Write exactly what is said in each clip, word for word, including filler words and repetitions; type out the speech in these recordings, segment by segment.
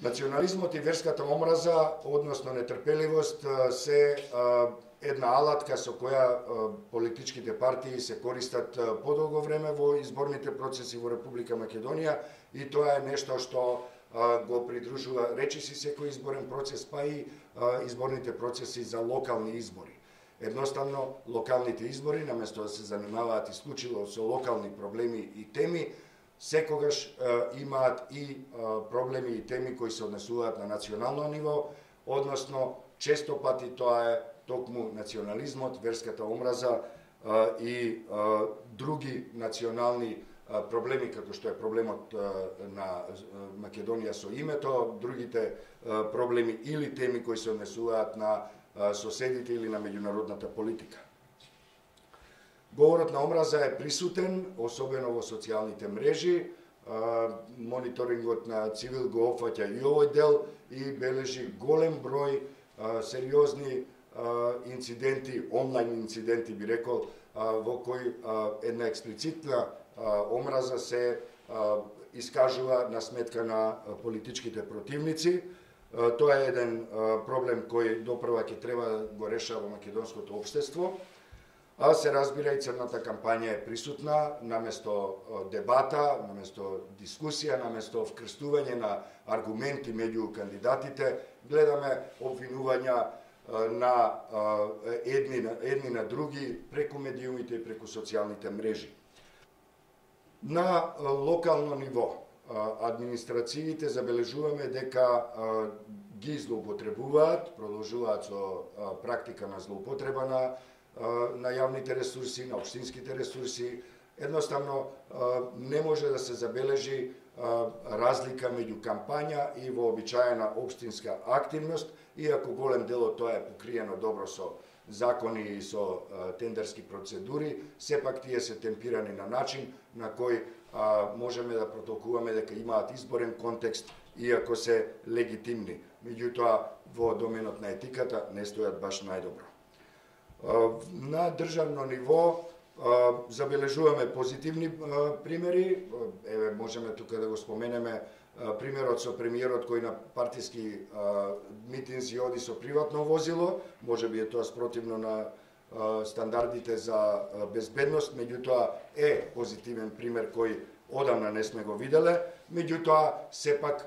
Национализмот и верската омраза, односно нетрпеливост, се една алатка со која политичките партии се користат подолго време во изборните процеси во Република Македонија и тоа е нешто што го придружува речиси секој изборен процес, па и изборните процеси за локални избори. Едноставно, локалните избори, наместо да се занимаваат исклучиво со локални проблеми и теми, секогаш е, имаат и е, проблеми и теми кои се однесуваат на национално ниво, односно често пати тоа е токму национализмот, верската омраза е, и е, други национални е, проблеми, како што е проблемот е, на Македонија со името, другите е, проблеми или теми кои се однесуваат на е, соседите или на меѓународната политика. Говорот на омраза е присутен, особено во социјалните мрежи. Мониторингот на Цивил го опфаќа и овој дел и бележи голем број сериозни инциденти, онлайн инциденти би рекол, во кои една експлицитна омраза се искажува на сметка на политичките противници. Тоа е еден проблем кој допрва ќе треба да го решава македонското општество. А се разбира и црната кампања е присутна, наместо дебата, наместо дискусија, наместо вкрстување на аргументи меѓу кандидатите, гледаме обвинувања на едни, едни на други преку медиумите и преку социјалните мрежи. На локално ниво, администрациите забележуваме дека ги злоупотребуваат, продолжуваат со практика на злоупотреба на на јавните ресурси, на општинските ресурси. Едноставно не може да се забележи разлика меѓу кампања и вообичаена општинска активност, иако голем дел од тоа е покриено добро со закони и со тендерски процедури, сепак тие се темпирани на начин на кој можеме да протолкуваме дека имаат изборен контекст, иако се легитимни. Меѓутоа, во доменот на етиката не стојат баш најдобро. На државно ниво забележуваме позитивни примери. Еве, можеме тука да го споменеме примерот со премиерот кој на партиски митинзи оди со приватно возило, можеби е тоа спротивно на стандардите за безбедност, меѓутоа е позитивен пример кој одамна не сме го виделе, меѓутоа сепак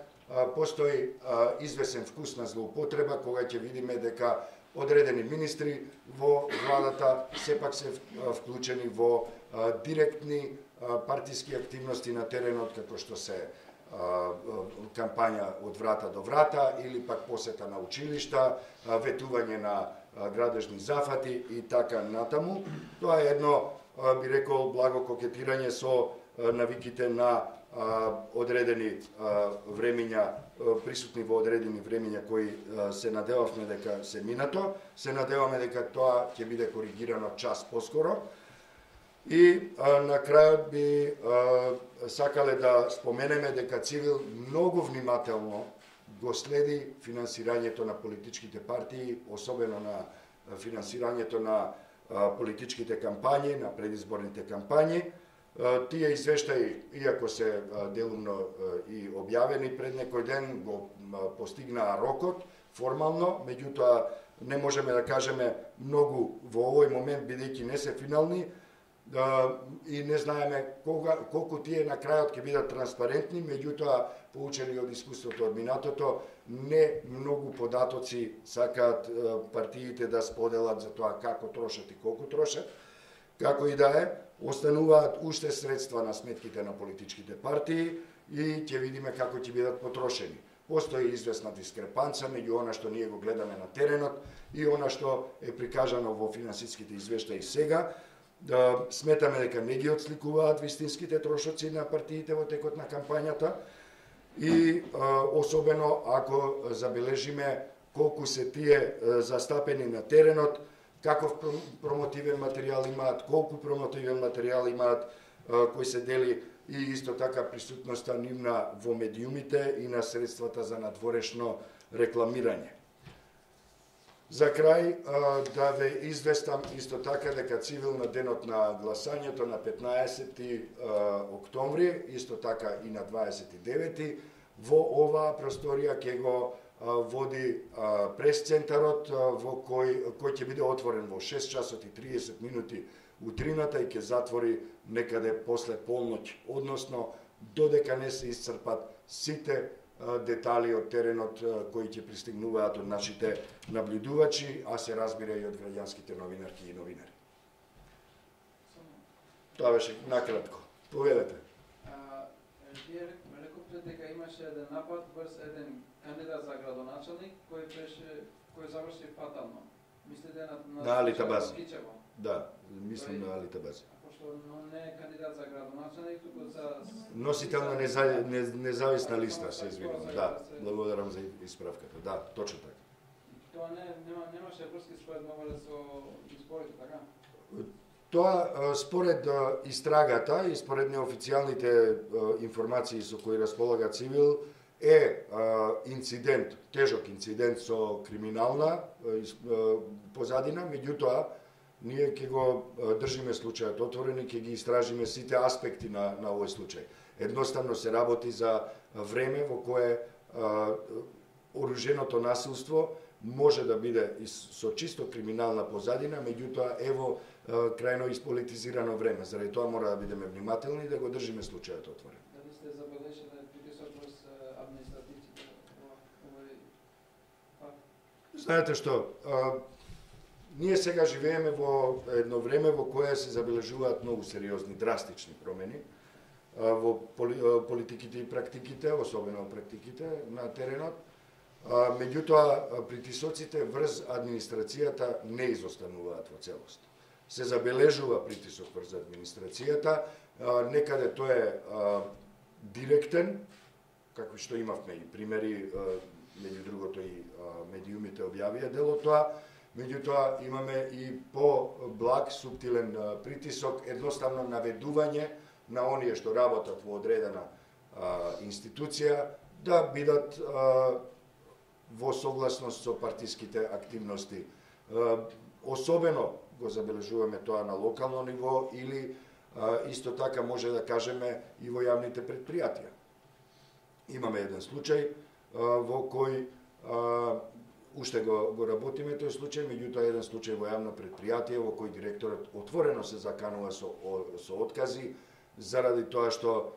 постои извесен вкус на злоупотреба кога ќе видиме дека одредени министри во владата сепак се вклучени во директни партиски активности на теренот, како што се кампања од врата до врата или пак посета на училишта, ветување на градежни зафати и така натаму. Тоа е едно, би рекол, благо кокетирање со навиките на одредени времења, присутни во одредени времења кои се надевавме дека се минато, се надеваме дека тоа ќе биде коригирано час поскоро. И на крајот би сакале да споменеме дека Цивил многу внимателно го следи финансирањето на политичките партии, особено на финансирањето на политичките кампањи, на предизборните кампањи. Тие извештаи, иако се делумно и објавени пред некој ден, го постигнаа рокот формално, меѓутоа не можеме да кажеме многу во овој момент, бидејќи не се финални, и не знаеме кога, колку тие на крајот ќе бидат транспарентни, меѓутоа, поучени од искуството од минатото, не многу податоци сакаат партиите да споделат за тоа како трошат и колку трошат. Како и да е, остануваат уште средства на сметките на политичките партии и ќе видиме како ќе бидат потрошени. Постои известна дискрепанца меѓу она што ние го гледаме на теренот и она што е прикажано во финансиските извештаи сега. Да сметаме дека не ги отсликуваат вистинските трошоци на партиите во текот на кампањата и особено ако забележиме колку се тие застапени на теренот, каков промотивен материјал имаат, колку промотивен материјал имаат кој се дели и исто така присутноста нивна во медиумите и на средствата за надворешно рекламирање. За крај да ве известам исто така дека Цивил на денот на гласањето на петнаесети октомври, исто така и на дваесет и девети, во оваа просторија ќе го води прес-центарот во кој кој ќе биде отворен во шест часот и триесет минути утрината и ќе затвори некаде после полноќ, односно додека не се исцрпат сите детали од теренот кои ќе пристигнуваат од нашите наблюдувачи, а се разбира и од граѓанските новинарки и новинари. Тоа беше накратко. Поведете. Вие рековте дека имаше еден напад врз еден кандидат за градоначалник кој беше кој заврши фатално. Мислите на на, на Али Табази? Да, мислам на Али Табази. Пошто не е кандидат за градоначалник, туку за носител на неза... независна листа, се извинувам. Да, благодарам за исправката. Да, точно така. Тоа не нема немаше врски според мовале со изборите, така? Тоа според истрагата и според неофицијалните информации со кои располага Цивил е инцидент, тежок инцидент со криминална позадина, меѓутоа ние ќе го држиме случајот отворен и ќе ги истражиме сите аспекти на на овој случај. Едноставно се работи за време во кое оруженото насилство може да биде со чисто криминална позадина, меѓутоа ево крајно исполитизирано време. Заради тоа мора да бидеме внимателни и да го држиме случајот отворен. Дали сте забележали притисок врз административците? Знаете што, а, ние сега живееме во едно време во кое се забележуваат многу сериозни, драстични промени а, во поли, а, политиките и практиките, особено практиките на теренот. А, меѓутоа, притисоците врз администрацијата не изостануваат во целост. Се забележува притисок врз администрацијата, а, некаде тој е а, директен, како што имавме и примери, а, меѓу другото и а, медиумите објавија дел од тоа, меѓутоа имаме и по-благ, суптилен а, притисок, едноставно наведување на оние што работат во одредена а, институција да бидат а, во согласност со партиските активности. Особено го забележуваме тоа на локално ниво или исто така може да кажеме и во јавните предпријатија. Имаме еден случај во кој уште го, го работиме тој случај, меѓутоа еден случај во јавно предпријатие во кој директорот отворено се заканува со, со откази заради тоа што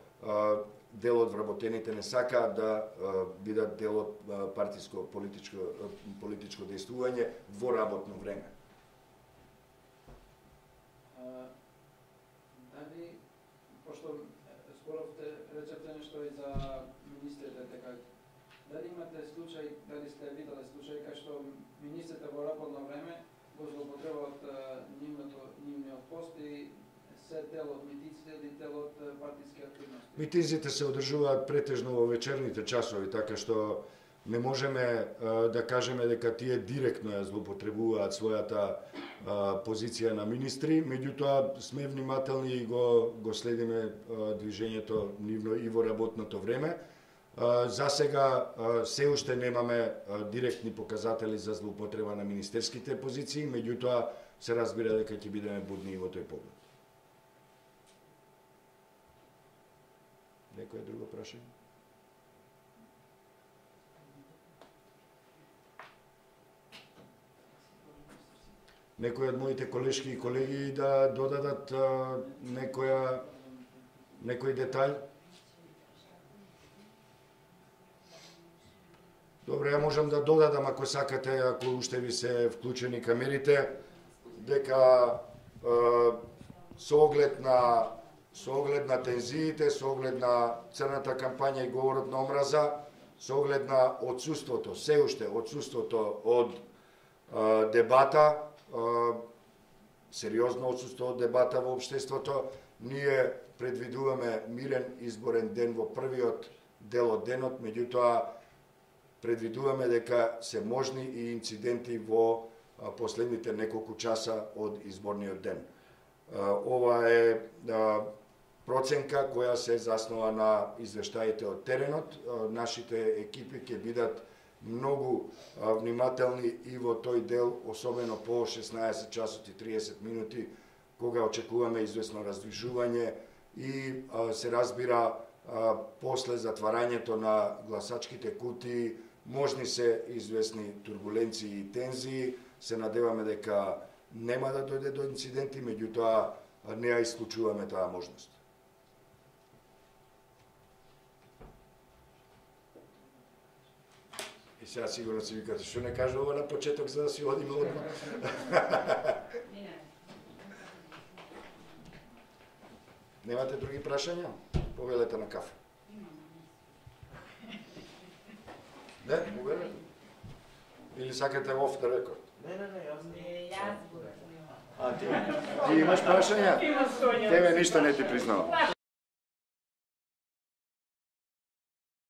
дел од вработените не сакаат да а, бидат дел од партиско политичко политичко действување во работно време. А, дали, пошто зборовте, речевте нешто и за министрите, дека дали имате случај, дали сте виделе случај кај што министрите во работно време го злоупотребуваат нивното нивниот пост и се дел од митиците или дел од партиски активности? Митизите се одржуваат претежно во вечерните часови, така што не можеме а, да кажеме дека тие директно ја злоупотребуваат својата а, позиција на министри, меѓутоа сме внимателни и го, го следиме а, движењето нивно и во работното време. А, за сега а, се уште немаме а, директни показатели за злоупотреба на министерските позиции, меѓутоа се разбира дека ќе бидеме будни и во тој поглед. Некој друго прашање? Некој од моите колешки и колеги да додадат а, некоја некој детај? Добре, ја можам да додадам ако сакате, ако уште ви се вклучени камерите, дека а, со оглед на со оглед на тензиите, со оглед на црната кампања и говорот на омраза, со оглед на отсуството, се уште отсуството од а, дебата, а, сериозно отсуство од дебата во општеството, ние предвидуваме мирен изборен ден во првиот дел од денот, меѓутоа предвидуваме дека се можни и инциденти во а, последните неколку часа од изборниот ден. А, ова е а, проценка која се заснова на извештаите од теренот. Нашите екипи ќе бидат многу внимателни и во тој дел, особено по шеснаесет часот и триесет минути, кога очекуваме известно раздвижување и се разбира а, после затварањето на гласачките кутии можни се известни турбуленции и тензии. Се надеваме дека нема да дојде до инциденти, меѓутоа не ја исклучуваме таа можност. И сега сигурно си викате, што не кажува на почеток за да си одиме одма. Немате други прашања? Повелете на кафе. Не, повелете. Или сакате off the record? Не, не, не, јас Не, јас го. А ти? Ти имаш прашања? Има Сонја. Тебе ништо не ти признавам.